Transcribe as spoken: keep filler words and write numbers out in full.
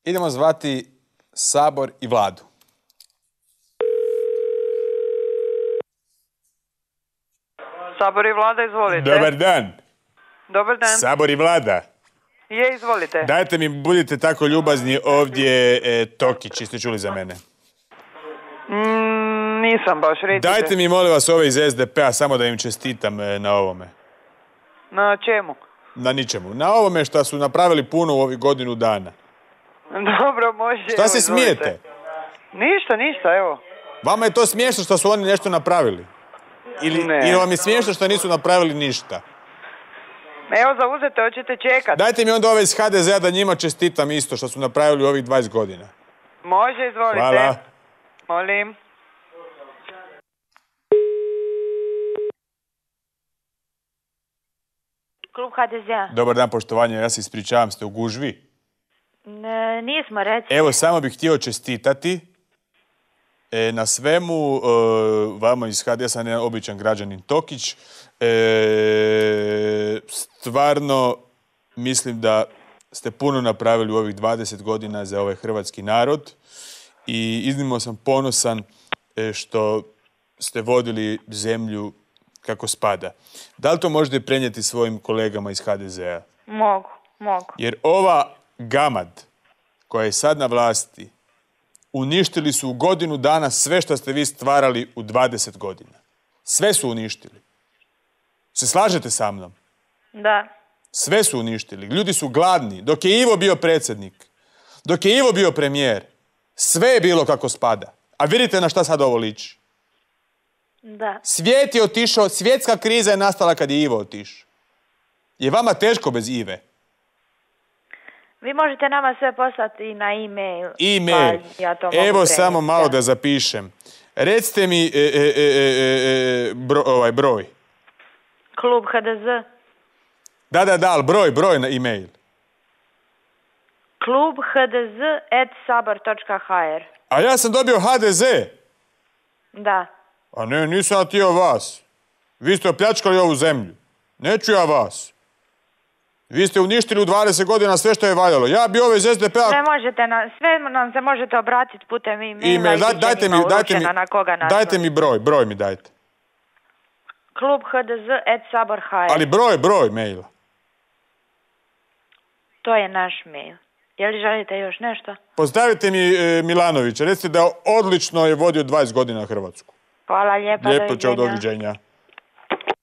Idemo zvati Sabor i Vladu. Sabor i Vlada, izvolite. Dobar dan. Dobar dan. Sabor i Vlada. Je, izvolite. Dajte mi, budite tako ljubazni, ovdje e, Tokić, jeste čuli za mene? Mm, nisam baš, recite. Dajte mi, molim vas, ove iz S D P-a, samo da im čestitam e, na ovome. Na čemu? Na ničemu. Na ovome što su napravili puno u ovih godinu dana. Dobro, može. Šta se smijete? Ništa, ništa, evo. Vama je to smiješno što su oni nešto napravili? Ili, ne. ili vam je smiješno što nisu napravili ništa? Evo, zauzete, hoćete čekat. Dajte mi onda ove iz H D Z-a da njima čestitam isto što su napravili u ovih dvadeset godina. Može, izvolite. Hvala. Molim. Klub H D Z-a. Dobar dan, poštovanje, ja se ispričavam, ste u gužvi? Ne, nismo, reci. Evo, samo bih htio čestitati e, na svemu, e, vama iz H D S-a, ne običan građanin Tokić. E, stvarno mislim da ste puno napravili u ovih dvadeset godina za ovaj hrvatski narod i iznimno sam ponosan e, što ste vodili zemlju kako spada. Da li to možete prenijeti svojim kolegama iz H D Z-a? Mogu, mogu. Jer ova gamad koja je sad na vlasti, uništili su u godinu dana sve što ste vi stvarali u dvadeset godina. Sve su uništili. Se slažete sa mnom? Da. Sve su uništili. Ljudi su gladni. Dok je Ivo bio predsjednik, dok je Ivo bio premijer, sve je bilo kako spada. A vidite na šta sad ovo liči. Da. Svijet je otišao, svjetska kriza je nastala kad je Ivo otišao. Je vama teško bez Ive? Vi možete nama sve poslati na e-mail. E-mail. Pa ja to mogu Evo prenijeti, samo malo da. da zapišem. Recite mi e, e, e, e, bro, ovaj broj. Klub H D Z. Da, da, da, ali broj, broj na e-mail. Klub H D Z at sabor točka h r. A ja sam dobio H D Z. Da. A ne, nisam ja htio vas. Vi ste opljačkali ovu zemlju. Neću ja vas. Vi ste uništili u dvadeset godina sve što je valjalo. Ja bi ove iz S D P-a... Sve možete, na, sve nam se možete obratiti putem e-maila. E-mail, da, dajte mi, dajte mi, na koga dajte mi broj, broj mi dajte. Klub H D Z at sabor točka h r. Ali broj, broj maila. To je naš mail. Je li želite još nešto? Pozdravite mi e, Milanovića. Recite da odlično je vodio dvadeset godina Hrvatsku. Hvala lijepa, Lijepo, čao, doviđenja. doviđenja.